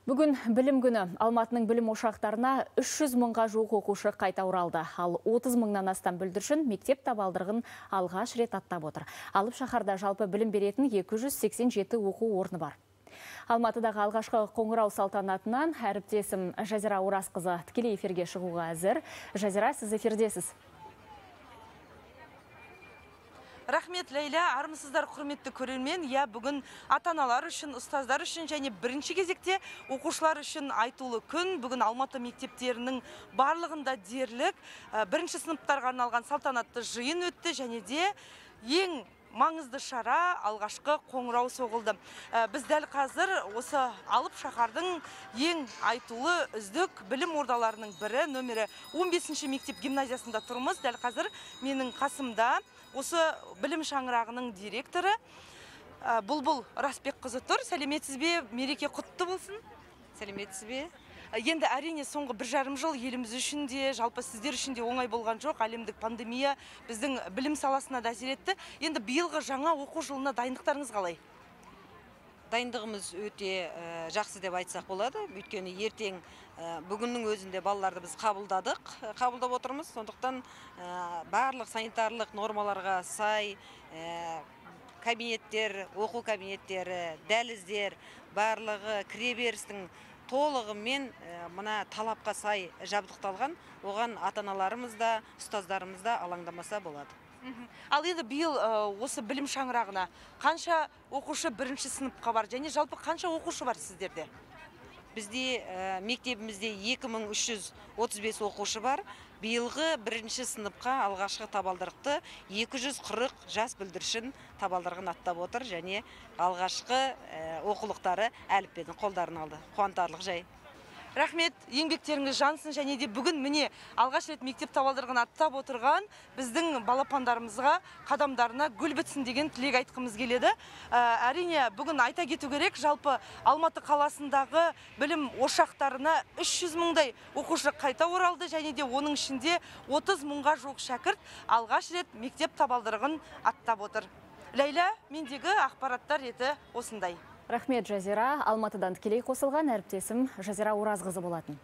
Бүгін білім күні. Алматының білім ошақтарына 300 мыңға жуық оқушы қайта оралды. Ал 30 мыңнан астам бүлдіршін мектеп табалдырығын алғаш рет аттап отыр. Алып шаһарда жалпы білім беретін 287 оқу орны бар. Алматыдағы алғашқы қоңырау салтанатынан әріптесім Жазира Оразқызы тікелей эфирге шығуға әзір. Жазира, сіз эфирдесіз. Рахмет, Лейла, армысыздар құрметті көрермен. Бүгін ата-аналар үшін, ұстаздар үшін және бірінші кезекте оқушылар үшін айтулы күн. Бүгін Алматы мектептерінің барлығында дерлік бірінші сыныптарға арналған салтанатты жиын өтті және де ең маңызды шара алғашқы қоңырау соғылды. Біз дәл қазір осы алып шаһардың ең айтулы үздік білім ордаларының бірі, нөмірі 15-ші мектеп гимназиясында тұрмыз. Дәл қазір менің қасымда осы білім шаңырағының директоры Бұлбұл Расбекқызы тұр. Сәлеметсіз бе? Мереке құтты болсын. Сәлеметсіз бе? Енді әрине соңғы 1,5 жыл еліміз үшін де, жалпы сіздер үшін де оңай болған жоқ. Әлемдік пандемия біздің білім саласына да әсер етті. Енді биылғы жаңа оқу жылына дайындықтарыңыз қалай? Дайындығымыз өте жақсы деп айтсақ болады. Өйткені ертең бүгіннің өзінде балаларды біз қабылдап отырмыз. Сондықтан барлық санитарлық нормаларға сай кабинеттер, оқу кабинеттері, дәліздер, барлығы кіреберістің толығымен мына талапқа сай жабдықталған. Оған ата-аналарымыз да, ұстаздарымыз да алаңдамаса болады. Ал енді биыл осы білім шаңырағына қанша оқушы бірінші сыныпқа бар және жалпы қанша оқушы бар сіздерде? Бізде мектебімізде 2335 оқушы бар. Биылғы бірінші сыныпқа алғашқы табалдырықты 240 жас бүлдіршін табалдырығын аттап отыр және алғашқы оқулықтары әліппені қолдарына алды. Қуантарлық жай. Рахмет, еңбектеріңіз жансын және де бүгін міне алғаш рет мектеп табалдырығын аттап отырған біздің балапандарымызға қадамдарына гүл бітсін деген тілек айтқымыз келеді. Әрине бүгін айта кету керек, жалпы Алматы қаласындағы білім ошақтарына 300 мыңдай оқушы қайта оралды және де оның ішінде 30 мыңға жуық шәкірт алғаш рет мектеп табалдырығын аттап отыр. Лейла, мендегі ақпараттар реті осындай. Рахмет, Жазира. Алматыдан тікелей қосылған әріптесім Жазира Оразқызы болатын.